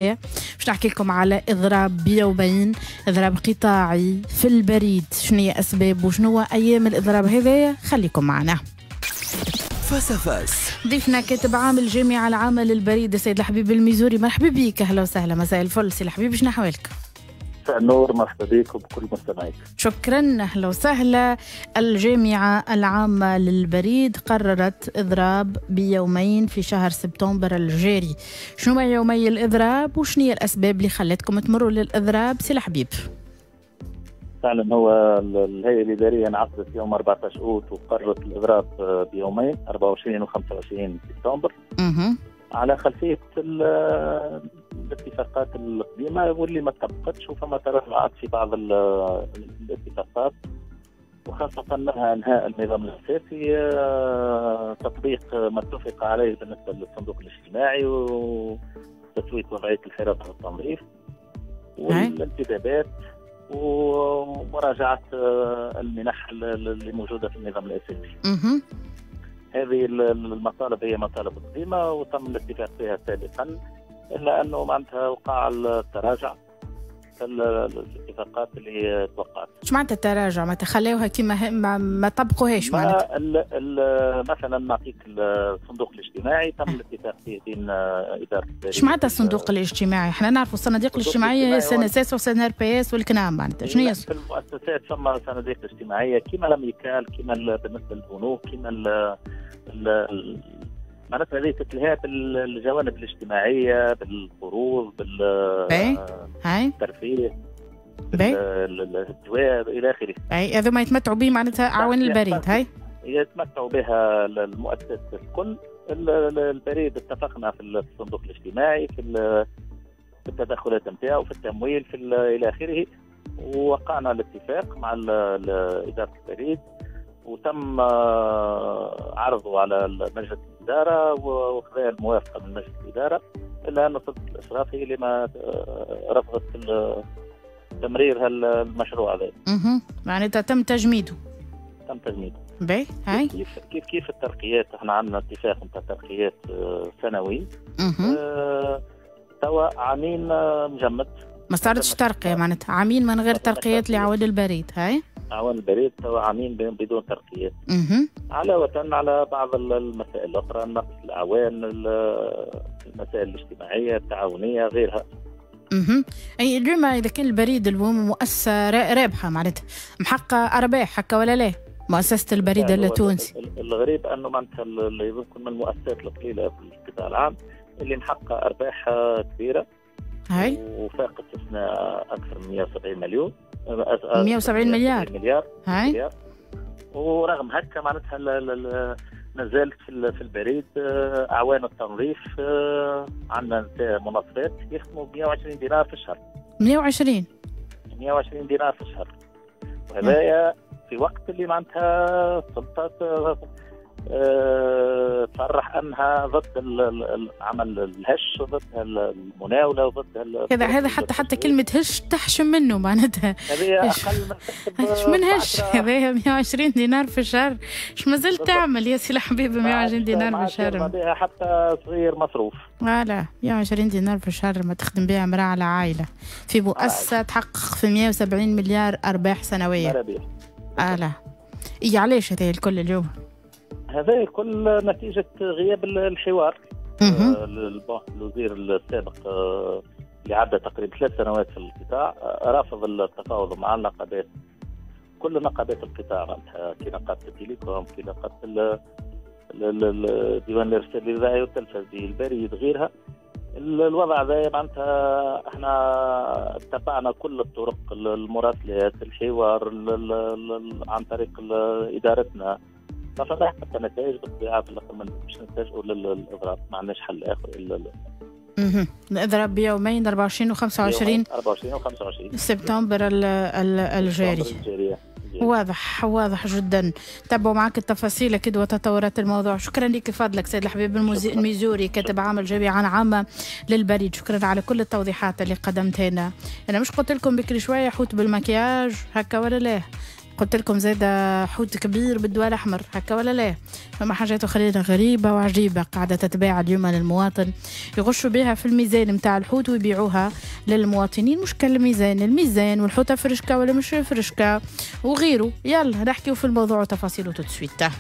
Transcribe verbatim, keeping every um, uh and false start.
باش نحكي لكم على إضراب بيومين، إضراب قطاعي في البريد، شنو هي أسباب وشنو أيام الإضراب هذايا؟ خليكم معنا. face à face. ضيفنا كاتب عام الجامعة العامة للبريد السيد الحبيب الميزوري، مرحبا بك، أهلا وسهلا، مساء الفل سي الحبيب، شنو أحوالك؟ مساء النور، مرحبا بك وبكل مستمعيك. شكرا، اهلا وسهلا. الجامعة العامة للبريد قررت إضراب بيومين في شهر سبتمبر الجاري، شنو يومي الإضراب وشنو هي الأسباب اللي خلتكم تمروا للإضراب سي الحبيب؟ فعلا هو الهيئة الإدارية انعقدت يوم أربعة عشر أوت وقررت الإضراب بيومين أربعة وعشرين وخمسة وعشرين سبتمبر. اها على خلفية الاتفاقات القديمة واللي ما طبقتش، وفما تراجعات في بعض الاتفاقات، وخاصة منها انهاء النظام الأساسي، تطبيق ما اتفق عليه بالنسبة للصندوق الاجتماعي وتسوية وضعية الحراسة والتنظيف والانتدابات ومراجعة المنح اللي موجودة في النظام الأساسي. هذه المطالب هي مطالب قديمة وتم الاتفاق فيها سابقا، إلا أنه معناتها وقع التراجع في الاتفاقات اللي توقعت. ايش معناتها التراجع؟ ما تخلوها كما ما, ما طبقوهاش معناتها؟ مثلا نعطيك الصندوق الاجتماعي تم الاتفاق فيه بين إدارة. ايش معناتها الصندوق الاجتماعي؟ احنا نعرفوا الصناديق الاجتماعية هي CNSS و CNRPS والكنام معناتها، شنو هي؟ في المؤسسات ثم صناديق اجتماعية كما l'amicale، كما بالنسبة للبنوك، كما ال معناتها هذه تتلهى بالجوانب الاجتماعية، بالقروض، بالترفيه، بالدواء الى اخره. اي هذوما يتمتعوا به معناتها اعوان البريد، هاي يتمتعوا بها المؤسسات الكل. البريد اتفقنا في الصندوق الاجتماعي، في التدخلات نتاعو، في التمويل، في الى اخره، ووقعنا الاتفاق مع ادارة البريد وتم عرضه على مجلس الإدارة وخذا الموافقة من مجلس الإدارة، إلا أن سلطة الإشراف هي اللي ما رفضت تمرير المشروع هذا. اها معناتها تم تجميده. تم تجميده. باهي هاي كيف كيف كيف الترقيات، احنا عندنا اتفاق نتاع ترقيات سنوي. اها توا عامين مجمد. ما صارتش ترقية معناتها، عامين من غير ترقيات لعوان البريد، هاي؟ أعوان البريد توا عامين بدون ترقيات. علاوة على بعض المسائل الأخرى، نقص الأعوان، المسائل الاجتماعية، التعاونية، غيرها. اها أي اليوم إذا كان البريد اليوم مؤسسة رابحة معناتها محققة أرباح هكا ولا لا؟ مؤسسة البريد التونسي. الغريب أنه معناتها يمكن من المؤسسات القليلة في القطاع العام اللي محققة أرباح كبيرة. هاي وفاقت السنة أكثر من مئة وسبعين مليون. مئة وسبعين مليار. مليار. هاي. مليار. ورغم هكا معناتها ما زالت في البريد أعوان التنظيف عندنا منظفات يخدموا ب مئة وعشرين دينار في الشهر. مئة وعشرين مئة وعشرين دينار في الشهر. وهذايا في وقت اللي معناتها السلطات تصرح انها ضد العمل الهش وضد المناوله وضد هذا هذا حتى حتى كلمة هش تحشم منه معناتها. هذه اقل ما اش من هش، هذايا مئة وعشرين دينار في الشهر، اش مازال تعمل يا سي الحبيب مئة وعشرين دينار في الشهر؟ بها حتى صغير مصروف. voilà مئة وعشرين دينار في الشهر ما تخدم بها امراة على عائلة في مؤسسة تحقق في مئة وسبعين مليار ارباح سنوية. voilà اي علاش هذا الكل اليوم؟ هذا الكل نتيجة غياب الحوار. الوزير السابق اللي عدى تقريبا ثلاث سنوات في القطاع رافض التفاوض مع النقابات، كل نقابات القطاع معناتها، كي نقابة ال télécom، كي نقابة ديوان الإرسال الإذاعي والتلفزي، البريد، غيرها. الوضع هذا معناتها احنا اتبعنا كل الطرق، المراسلات، الحوار عن طريق إدارتنا، ما فما حتى نتائج بالطبيعة. في الاخر باش نلتجئوا للاضراب، ما عندناش حل اخر الا اها الاضراب بيومين أربعة وعشرين وخمسة وعشرين أربعة وعشرين وخمسة وعشرين سبتمبر الجاري. واضح واضح جدا. تابعوا معك التفاصيل اكيد وتطورات الموضوع. شكرا لك فضلك سيد الحبيب الميزوري كاتب عام الجامعة العامة للبريد، شكرا على كل التوضيحات اللي قدمتها لنا. انا مش قلت لكم بكري شوية حوت بالمكياج هكا ولا لا؟ قلت لكم زاد حوت كبير بالدواء الاحمر، هكا ولا لا؟ فما حاجات اخرين غريبة وعجيبه قاعدة تتباع اليوم للمواطن، يغشوا بها في الميزان نتاع الحوت ويبيعوها للمواطنين. مش كالميزان، الميزان والحوته فرشكه ولا مش فرشكه وغيره. يلا نحكيو في الموضوع وتفاصيله tout de suite.